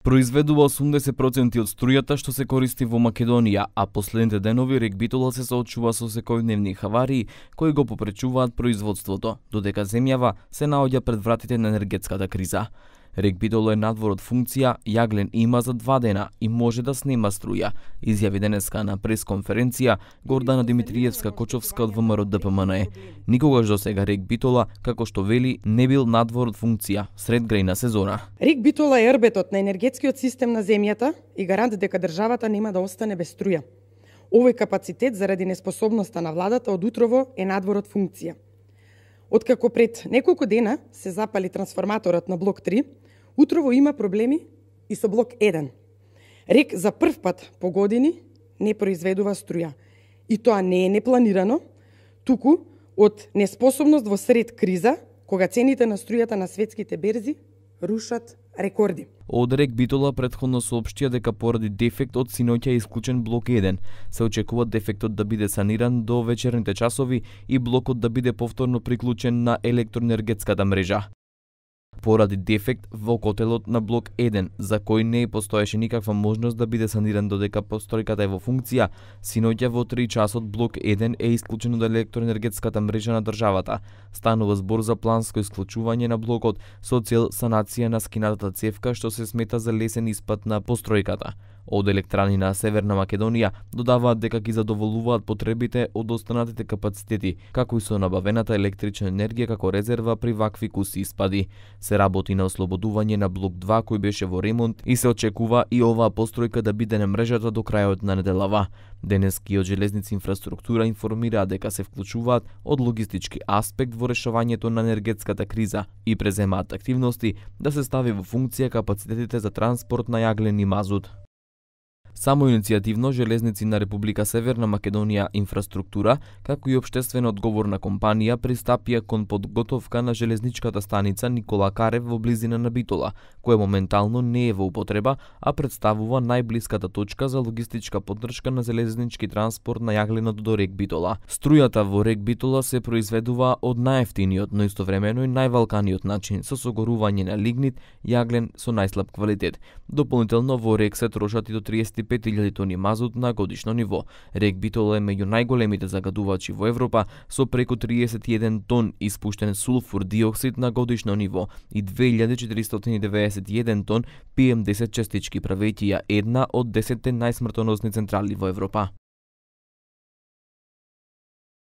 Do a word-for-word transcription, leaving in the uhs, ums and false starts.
Произведува осумдесет проценти од струјата што се користи во Македонија, а последните денови рек Битола се соочува со секојдневни хаварии кои го попречуваат производството, додека земјава се наоѓа пред вратите на енергетската криза. Рек Битола е надвор од функција, јаглен има за два дена и може да снема струја, изјави денеска на пресконференција Гордана Димитриевска-Кочовска од ВМРО-ДПМНЕ. Никогаш до сега рек Битола, како што вели, не бил надвор од функција сред грејна сезона. Рек Битола е ербетот на енергетскиот систем на земјата и гарант дека државата нема да остане без струја. Овој капацитет заради неспособноста на владата од утрово е надвор од функција. Откако пред неколку дена се запали трансформаторот на блок три, утрово има проблеми и со блок еден. Рек за прв пат по години не произведува струја. И тоа не е непланирано, туку од неспособност во сред криза, кога цените на струјата на светските берзи рушат рекорди. Од рек Битола претходно соопштија дека поради дефект од синоќа е исклучен блок еден. Се очекува дефектот да биде саниран до вечерните часови и блокот да биде повторно приклучен на електроенергетската мрежа. Поради дефект во котелот на блок еден, за кој не постоеше никаква можност да биде саниран додека постројката е во функција, синоќа во три часот блок еден е исклучен од електроенергетската мрежа на државата. Станува збор за планско исклучување на блокот со цел санација на скинатата цевка што се смета за лесен испад на постројката. Од електрани на Северна Македонија додаваат дека ги задоволуваат потребите од останатите капацитети, како и со набавената електрична енергија како резерва при вакви куси испади. Се работи на ослободување на блок два кој беше во ремонт и се очекува и оваа постројка да биде на мрежата до крајот на неделава. Денески од Железници инфраструктура информира дека се вклучуваат од логистички аспект во решавањето на енергетската криза и преземаат активности да се стави во функција капацитетите за транспорт на јаглен и мазут. Само иницијативно Железници на Република Северна Македонија инфраструктура, како и општествено одговорна компанија пристапија кон подготовка на железничката станица Никола Карев во близина на Битола, која моментално не е во употреба, а представува најблиската точка за логистичка поддршка на железнички транспорт на јагленот до рек Битола. Струјата во рек Битола се произведува од најевтиниот, но истовремено и највалканиот начин со согорување на лигнит, јаглен со најслаб квалитет. Дополнително во рек се трошат и до триесет и пет илјади тони мазут на годишно ниво. Рек Битола е меѓу најголемите загадувачи во Европа со преку триесет и еден тон испуштен сулфур диоксид на годишно ниво и две илјади четиристотини и деветдесет и еден тон пи ем десет частички, правејќи ја една од десетте најсмртоносни централи во Европа.